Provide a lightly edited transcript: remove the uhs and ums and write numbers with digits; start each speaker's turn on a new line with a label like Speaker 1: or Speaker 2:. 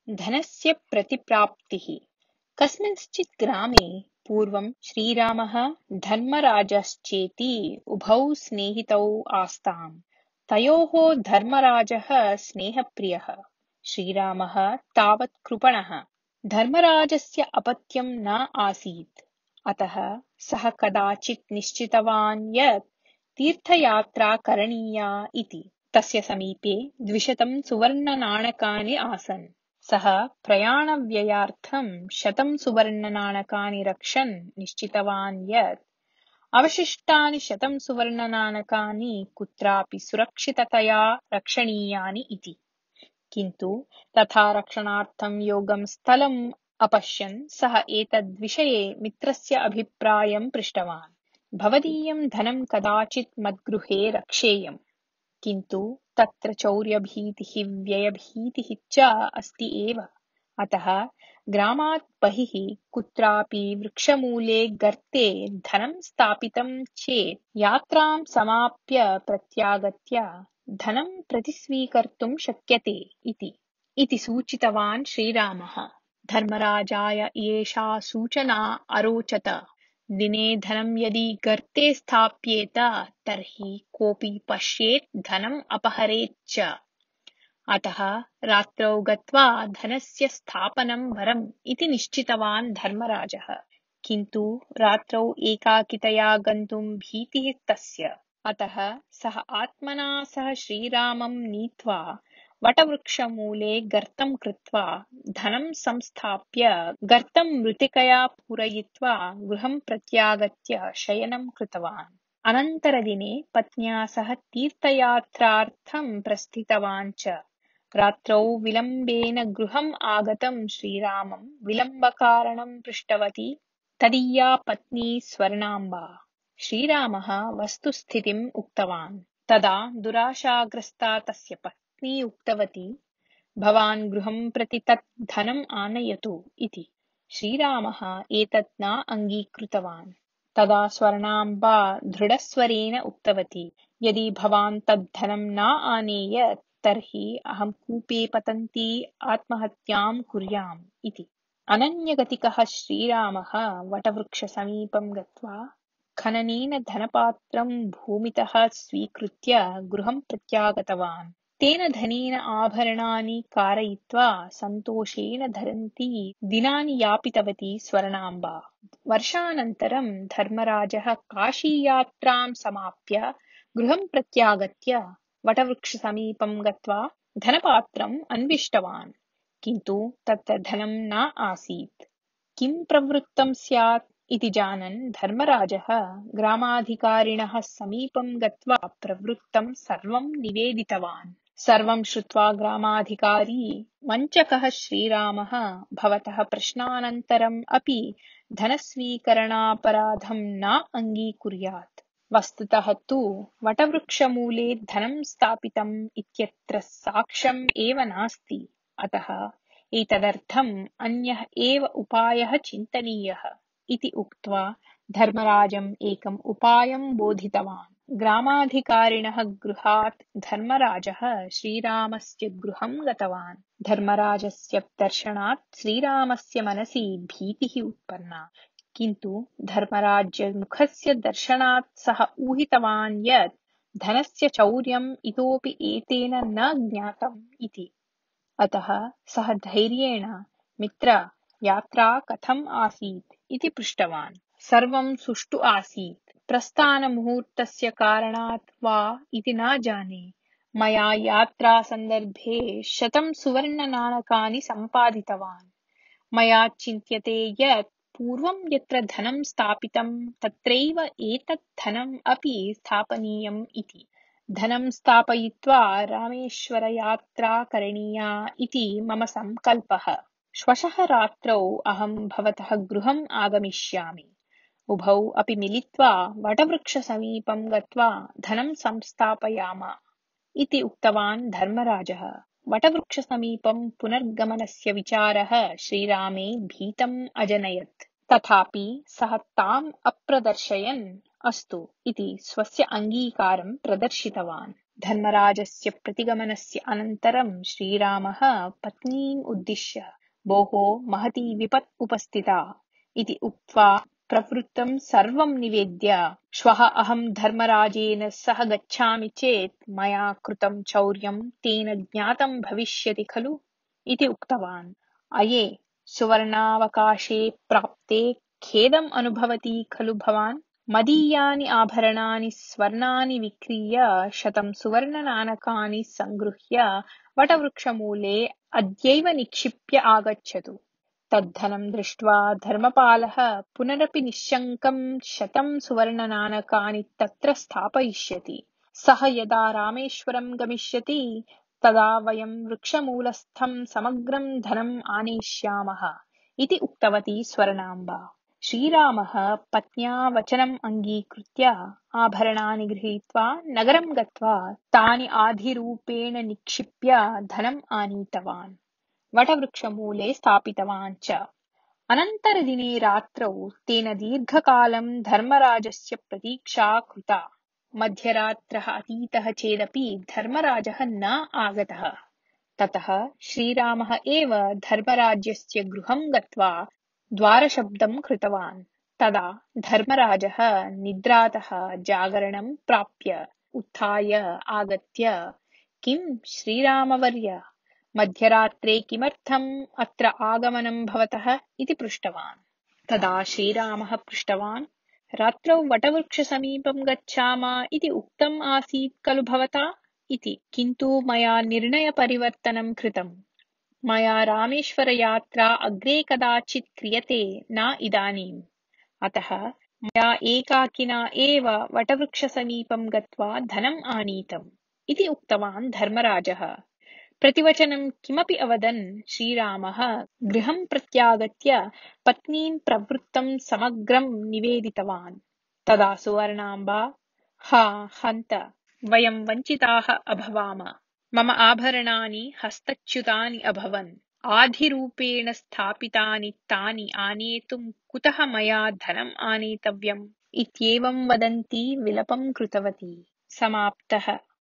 Speaker 1: धनस्य प्रतिप्राप्तिः। कस्मिंश्चित् ग्रामे पूर्वं श्रीरामः धर्मराजश्चेति उभौ स्नेहितौ आस्ताम्। तयोः धर्मराजः स्नेहप्रियः, श्रीरामः तावत् कृपणः। धर्मराजस्य अपत्यं न आसीत्, अतः सः कदाचित् निश्चितवान् यत् तीर्थयात्रा करणीया इति। तस्य समीपे 200 सुवर्णनाणकानि आसन्। सः प्रयाणव्ययार्थं 100 सुवर्णनाणकानि रक्षन् निश्चितवान् यत् अवशिष्टानि 100 सुवर्णनाणकानि कुत्रापि सुरक्षिततया रक्षणीयानि इति। किन्तु तथा रक्षणार्थं योग्यं स्थलम् अपश्यन् सः एतद्विषये मित्रस्य अभिप्रायं पृष्टवान्। भवदीयं धनं कदाचित् मद्गृहे रक्षेयम्, किन्तु तत्र चौर्यभीतिः व्ययभीतिः च अस्ति एव। अतः ग्रामात् बहिः कुत्रापि वृक्षमूले गर्ते धनं स्थापितं चेत् यात्रां समाप्य प्रत्यागत्य धनं प्रतिस्वीकर्तुं शक्यते इति सूचितवान् श्रीरामः। धर्मराजाय एषा सूचना अरोचत। दिने धनं यदि गर्ते स्थाप्येत तर्हि कोऽपि पश्येत् धनम् अपहरेत् च। अतः रात्रौ गत्वा धनस्य स्थापनं वरम् इति निश्चितवान् धर्मराजः। किन्तु रात्रौ एकाकितया गन्तुं भीतिः तस्य। अतः सः आत्मना सह श्रीरामं नीत्वा वटवृक्षमूले गर्तं कृत्वा धनं संस्थाप्य गर्तं मृत्तिकया पूरयित्वा गृहं प्रत्यागत्य शयनं कृतवान्। अनन्तरदिने पत्न्या सह तीर्थयात्रार्थं प्रस्थितवान् च। रात्रौ विलम्बेन गृहम् आगतं श्रीरामं विलम्बकारणं पृष्टवती तदीया पत्नी स्वर्णाम्बा। श्रीरामः वस्तुस्थितिम् उक्तवान्। तदा दुराशाग्रस्ता तस्य पत्नी उक्तवती, भवान् गृहं प्रति तत् धनम् आनयतु इति। श्रीरामः एतत् न अङ्गीकृतवान्। तदा स्वर्णाम्बा दृढस्वरेण उक्तवती, यदि भवान् तत् धनं न आनेयत् तर्हि अहं कूपे पतन्ती आत्महत्यां कुर्याम् इति। अनन्यगतिकः श्रीरामः वटवृक्षसमीपं गत्वा खननेन धनपात्रं भूमितः स्वीकृत्य गृहं प्रत्यागतवान्। तेन धनेन आभरणानि कारयित्वा सन्तोषेण धरन्ती दिनानि यापितवती स्वर्णाम्बा। वर्षानन्तरं धर्मराजः काशीयात्रां समाप्य गृहं प्रत्यागत्य वटवृक्षसमीपं गत्वा धनपात्रम् अन्विष्टवान्, किन्तु तत्र धनं न आसीत्। किं प्रवृत्तं स्यात् इति जानन् धर्मराजः ग्रामाधिकारिणः समीपं गत्वा प्रवृत्तं सर्वं निवेदितवान्। सर्वं श्रुत्वा ग्रामाधिकारी, वञ्चकः श्रीरामः भवतः प्रश्नानन्तरम् अपि धनस्वीकरणापराधं न अङ्गीकुर्यात्। वस्तुतः तु वटवृक्षमूले धनं स्थापितम् इत्यत्र साक्ष्यम् एव नास्ति। अतः एतदर्थम् अन्यः एव उपायः चिन्तनीयः इति उक्त्वा धर्मराजम् एकम् उपायं बोधितवान्। ग्रामाधिकारिणः गृहात् धर्मराजः श्रीरामस्य गृहं गतवान्। धर्मराजस्य दर्शनात् श्रीरामस्य मनसि भीतिः उत्पन्ना, किन्तु धर्मराजमुखस्य दर्शनात् सः ऊहितवान् यत् धनस्य चौर्यम् इतोपि एतेन न ज्ञातम् इति। अतः सः धैर्येण, मित्र, यात्रा कथम् आसीत् इति पृष्टवान्। सर्वं सुष्ठु आसीत्। प्रस्थानमुहूर्तस्य कारणात् वा इति न जाने, मया यात्रासन्दर्भे 100 सुवर्णनाणकानि सम्पादितवान्। मया चिन्त्यते यत् पूर्वं यत्र धनं स्थापितं तत्रैव एतत् धनम् अपि स्थापनीयम् इति। धनं स्थापयित्वा रामेश्वरयात्रा करणीया इति मम सङ्कल्पः। श्वः रात्रौ अहं भवतः गृहम् आगमिष्यामि। उभौ अपि मिलित्वा वटवृक्षसमीपं गत्वा धनं संस्थापयाम इति उक्तवान् धर्मराजः। वटवृक्षसमीपं पुनर्गमनस्य विचारः श्रीरामे भीतम् अजनयत्। तथापि सः ताम् अप्रदर्शयन् अस्तु इति स्वस्य अङ्गीकारं प्रदर्शितवान्। धर्मराजस्य प्रतिगमनस्य अनन्तरं श्रीरामः पत्नीम् उद्दिश्य भोः महती विपत् उपस्थिता इति उक्त्वा प्रवृत्तं सर्वं निवेद्य श्वः अहं धर्मराजेन सह गच्छामि चेत् मया कृतं चौर्यं तेन ज्ञातं भविष्यति खलु इति उक्तवान्। अये सुवर्णावकाशे प्राप्ते खेदम् अनुभवति खलु भवान्? मदीयानि आभरणानि स्वर्णानि विक्रीय 100 सुवर्णनाणकानि सङ्गृह्य वटवृक्षमूले अद्यैव निक्षिप्य आगच्छतु। तद्धनं दृष्ट्वा धर्मपालः पुनरपि निश्शङ्कं 100 सुवर्णनाणकानि तत्र स्थापयिष्यति। सः यदा रामेश्वरं गमिष्यति तदा वयं वृक्षमूलस्थं समग्रं धनम् आनेष्यामः इति उक्तवती स्वर्णाम्बा। श्रीरामः पत्न्या वचनम् अङ्गीकृत्य आभरणानि गृहीत्वा नगरं गत्वा तानि आधिरूपेण निक्षिप्य धनम् आनीतवान्, वटवृक्षमूले स्थापितवान् च। अनन्तरदिने रात्रौ तेन दीर्घकालं धर्मराजस्य प्रतीक्षा कृता। मध्यरात्रः अतीतः चेदपि धर्मराजः न आगतः। ततः श्रीरामः एव धर्मराजस्य गृहं गत्वा द्वारशब्दं कृतवान्। तदा धर्मराजः निद्रातः जागरणं प्राप्य उत्थाय आगत्य किं श्रीरामवर्य, मध्यरात्रे किमर्थम् अत्र आगमनं भवतः इति पृष्टवान्। तदा श्रीरामः पृष्टवान्, रात्रौ वटवृक्षसमीपं गच्छाम इति उक्तम् आसीत् खलु भवता इति, किन्तु मया निर्णयपरिवर्तनं कृतम्। मया रामेश्वरयात्रा अग्रे कदाचित् क्रियते, न इदानीम्। अतः मया एकाकिना एव वटवृक्षसमीपं गत्वा धनम् आनीतम् इति उक्तवान् धर्मराजः। प्रतिवचनं किमपि अवदन् श्रीरामः गृहं प्रत्यागत्य पत्नीं प्रवृत्तं समग्रं निवेदितवान्। तदा सुवर्णाम्बा, हा हन्त, वयं वञ्चिताः अभवाम। मम आभरणानि हस्तच्युतानि अभवन्। आधिरूपेण स्थापितानि तानि आनेतुं कुतः मया धनम् आनेतव्यम् इत्येवं वदन्ती विलपं कृतवती। समाप्तः।